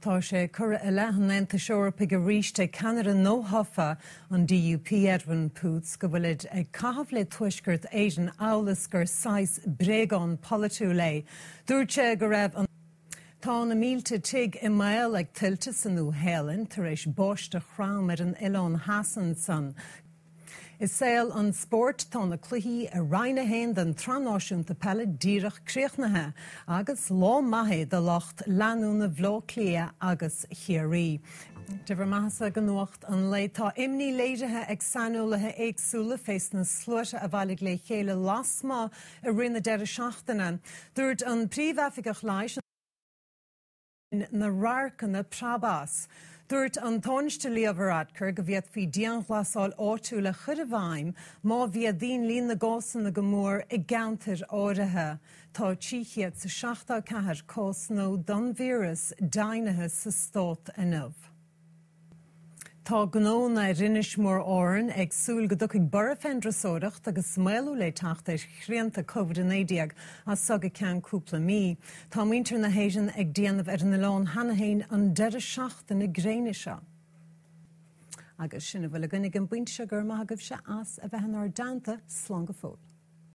Tá sé curtha i leith an Aontais Eorpaigh arís ag ceannaire nuathofa an DUP, Edwin Poots, go bhfuilid ag caitheamh le Tuaisceart Éireann amhail is gur saghas bréagán polaitiúil é. Dúirt sé go raibh an. Tá na mílte tigh i mbaol ag tuilte sa Nua-Shéalainn tar éis báisteach throm ar an oileán theas ansan. I saol an spóirt, tá na cluichí i Roinn 1 den tSraith Náisiúnta Peile díreach críochnaithe agus lá maith é do lucht leanúna Bhaile Átha Cliath agus Chiarraí. De bhur mbeathasa go Nuacht an Lae, tá imní léirithe ag saineolaithe éagsúla fés na sluaite a bhailigh le chéile lasmuigh i rith na deireadh seachtaine. Dúirt an Príomh-Oifigeach Leighis, na radharcanna preab as. Dúirt an Tánaiste Leo Varadkar go bhféadfaí dianghlasáil áitiúil a chur i bhfeidhm má mhéadaíonn líon na gcásanna go mór i gceantair áirithe. Tá 374 cás nua den víreas deimhnithe sa stát inniu. Tá gnónna ar Inis Mór Árann ag súil go dtiocfaidh borradh fén dturasóireacht agus maolú le teacht ar shrianta Covid-19 as so go ceann cúpla mí. Tá muintir na hÉireann ag déanamh ar an oileán cheana féin an deireadh seachtaine gréine seo. Agus sin a bhfuil againn ag an bpointe seo, go raibh maith agaibhse as a bheith inár dteannta, slán go fóill.